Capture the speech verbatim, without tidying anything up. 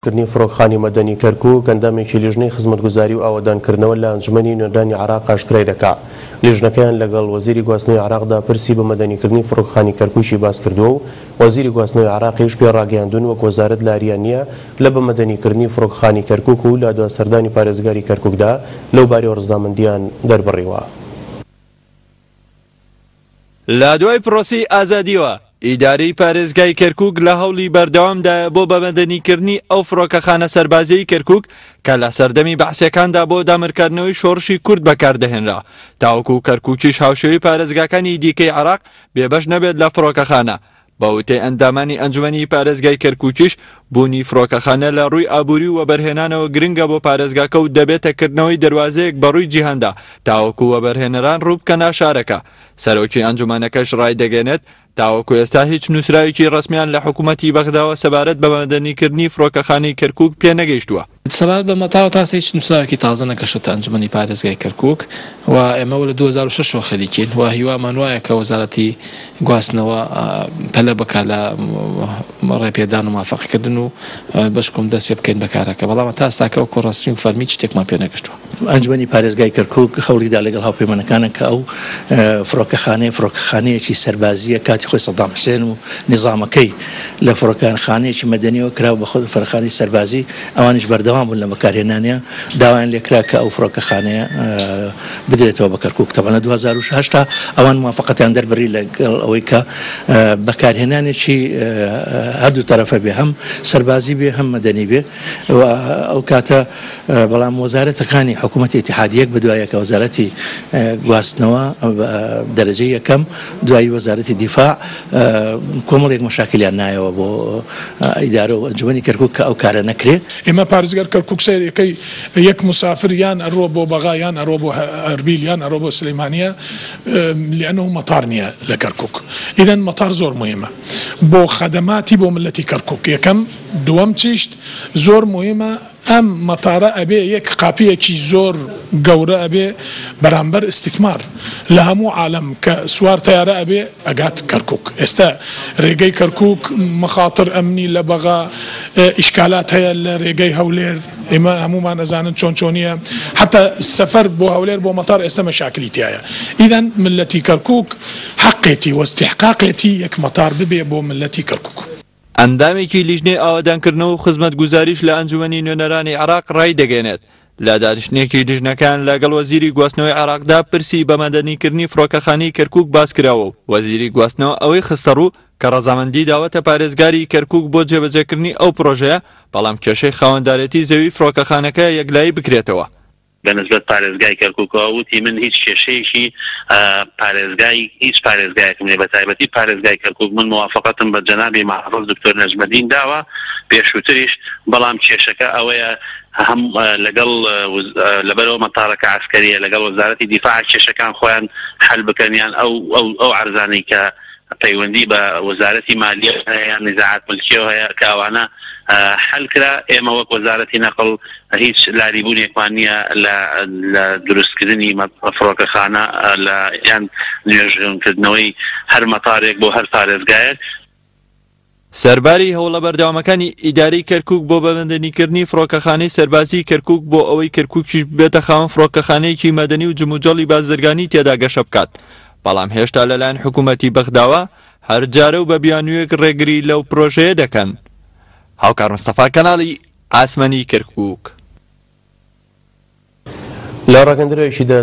کردنی فڕۆکخانی مەدەنی کەرکوک ئەندامێکی لیژنەی خزمەتگوزاری و ئاوەدانکردنەوە لە ئەنجومەنی نوێنەرانی عێراق ئاشکرای دەکا. لیژنەکەیان لەگەڵ وەزیری گواستنەوەی عێراقدا پرسی بە مەدەنیکردنی فڕۆکخانی کەرکوکی باس کردووە و وەزیری گواستنەوەی عێراقیش پێ ڕاگەیاندوون وەک وەزارەت لاریان نییە لە بە مەدەنیکردنی فڕۆکخانی کەرکوک و لە دوا سەردانی پارێزگاری کەرکوکدا لەو بارەیەوە ڕزامەندیان دەربڕیوە. لە دوای پرۆسەی ئازادیەوە ئیدارەی پارێزگای کەرکوک لە هەوڵی بەردەوامدایە بۆ بەمەدەنیکردنی ئەو فڕۆکەخانە سەربازیەی کەرکوک کە لە سەردەمی بەعسیەکاندا بۆ دامرکاندنەوەی شۆڕشی کورد بەکاردەهێنرا، تاوەکو کەرکوکیش هاوشێوەی پارێزگاکانی دیکەی عێراق بێبەش نەبێت لە فڕۆکەخانە. بە وتەی ئەندامانی ئەنجومەنی پارێزگای کەرکوکیش بوونی فڕۆکەخانە لە ڕووی ئابووری و وەبەرهێنانەوە گرنگە بۆ پارێزگاکە و دەبێتە کردنەوەی دەروازەیەک بە ڕووی جیهاندا تاوەکو وەبەرهێنەران ڕووبکەنە شارەکە. سەرۆکی ئەنجومەنەکەش ڕایدەگەێنێت تاوەکو ئێستا هیچ نووسراوێکی ڕەسمیان لە حکوومەتی بەغداوە سەبارەت بە مەدەنیکردنی فڕۆکەخانەی کەرکوک پێ نەگەیشتووە. سەبارەت بە مەتاوە تاسە هیچ نووسراوێکی تازە نەگەشتە ئەنجومەنی پارێزگای کەرکوک و ئێمە لە دوو هەزار و شەش ەوە خەریکین و هیوامان وایە کە وەزارەتی گواستنەوە پەلە بکا لە ڕێپێدان و موافقەکردن و بەشکم دەست پێ بکەین بە کارەکە، بەڵام تا ئێستاکە وەکو ڕەسمی و فەرمی شتێکمان پێ نەگەشتووە. ئەنجومەنی پارێزگای کەرکوک هەوڵیدا لەگەڵ هاوپەیمانەکانە کە ئەو فڕۆکەخانەیە فڕۆکەخانەیەکی سەربازیە کاتی خۆی سەدام حوسێن و نیزامەکەی لە فڕۆکەخانەیەکی مەدەنیەوە کرا بە خۆ فڕۆکەخانەی سەربازی، ئەوانیش بەردەوام بوون لە بەکارهێنانیە، داوایان لێکرا کە ئەو فڕۆکەخانەیە بدرێتەوە بە کەرکوک. تەبعەن لە دوو هەزار و هەشت ئەوان موافقەتیان دەربڕی لەگەڵ ئەوەی کە بەکارهێنانێکی هەردوو تەرەفە بێ، هەم سەربازی بێ هەم مەدەنی بێ. و ئەو کاتە بەڵام وەزارەتەکانی حکوومەتی ئیتیحادی یەک بەدوایەکە وەزارەتی گواستنەوە دەرەجەی یەکەم، دوایی وەزارەتی دیفاع کۆمەڵێک مەشاکلیان نایەوە بۆ ئیدارە و ئەنجومەنی کەرکوک کە ئەو کارە نەکرێ. ئێمە پارێزگار کەرکوک سەیرەکەی یەک مسافر یان ئەڕۆ بۆ بەغا یان ئەڕۆ بۆ ئەربیل یان ئەڕۆ بۆ سلەیمانیە، لأنه مەتار نییە لە کەرکوک. ئیدەن مەتار زۆر مهمە بۆ خەدەماتی بۆ ملەتی کەرکوک یەکەم. دووەم چیشت زۆر مهمە ئەم مەتارە ئەبێ یەک قاپیەکی زۆر گەورە ئەبێ بەرامبەر ئیستیثمار لە هەموو عالەم کە سوار تەیارە ئەبێ ئەگات کەرکوک. ئێستا ڕێگەی کەرکوک مەخاتر ئەمنی لە بەغا ئیشکالات هەیە لە ڕێگەی هەولێر، ئێمە هەمومان ئەزانن چۆن چۆنیە، حتا سەفەر بۆ هەولێر بۆ مەتار ئێستا مەشاکلی تایە. ئیدەن ملەتی کەرکوک حەقێتی و ئیستیحقاقێتی یەک مەتار ببێ بۆ ملەتی کەرکوک. ئەندامێکی لیژنەی ئاوەدانکردنەوە و خزمەتگوزاریش لە ئەنجومەنی نوێنەرانی عێراق ڕایدەگەێنێت لە دانیشتنێکی لیژنەکان لەگەڵ وەزیری گواستنەوەی عێراقدا پرسی بە مەدەنیکردنی فڕۆکەخانەی کەرکوک باس کراوە و وەزیری گواستنەوە ئەوەی خستەڕوو کە ڕەزامەندی داوەتە پارێزگاری کەرکوک بۆ جێبەجێکردنی ئەو پرۆژەیە، بەڵام کێشەی خاوەندارێتی زەوی فڕۆکەخانەکە یەکلایی بکرێتەوە. بەنسبەت پارێزگای کەرکوکەوە وتی من هیچ کێشەیەکی پارێزگای هیچ پارێزگایەکم نیە، بە تایبەتی پارێزگای کەرکوک من موافقەتم بە جەنابی محافظ دکتۆر نەجمەدین داوە پێشووتریش، بەڵام کێشەکە ئەوەیە هەم لەگەڵ لەبەرەوە مەتارەکە عەسکەریە لەگەڵ وەزارەتی دیفاع کێشەکان خۆیان حل بکەن، یان ئەو ئەو عەرزانەی کە پەیوەندی بە وەزارەتی مالیە هەیە یان نزاعات ملکیەوە هەیە کە ئەوانە حل کرا. ئێمە وەک وەزارەتی نەقل هیچ لاریبوونێکمان نییە لە دروستکردنی فڕۆکەخانە لە یان نوێژکردنەوەی هەر مەتارێک بۆ هەر پارێزگایەک. سەرباری هەوڵە بەردەوامەکانی ئیدارەی کەرکوک بۆ بەمەدەنیکردنی فڕۆکەخانەی سەربازی کەرکوک بۆ ئەوەی کەرکوکیش ببێتە خاوەن فڕۆکەخانەیەکی مەدەنی و جموجۆڵی بازرگانی تێدا گەشە بکات، بەڵام هێشتا لەلایەن حکوومەتی بەغداوە هەر جارە و بە بیانوویەک ڕێگری لەو پرۆژەیە دەکەن. هاوکار مستەفا، کەناڵی ئاسمانی کەرکوک. لە ڕاگەندراوێکیدا